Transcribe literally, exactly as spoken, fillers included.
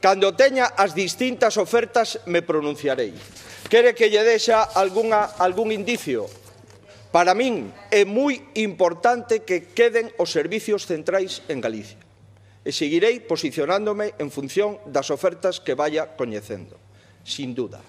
Cando teña as distintas ofertas me pronunciarei. Quere que lle deixa algunha, algún indicio? Para min é moi importante que queden os servicios centrais en Galicia. E seguirei posicionándome en función das ofertas que vaya coñecendo, sin duda.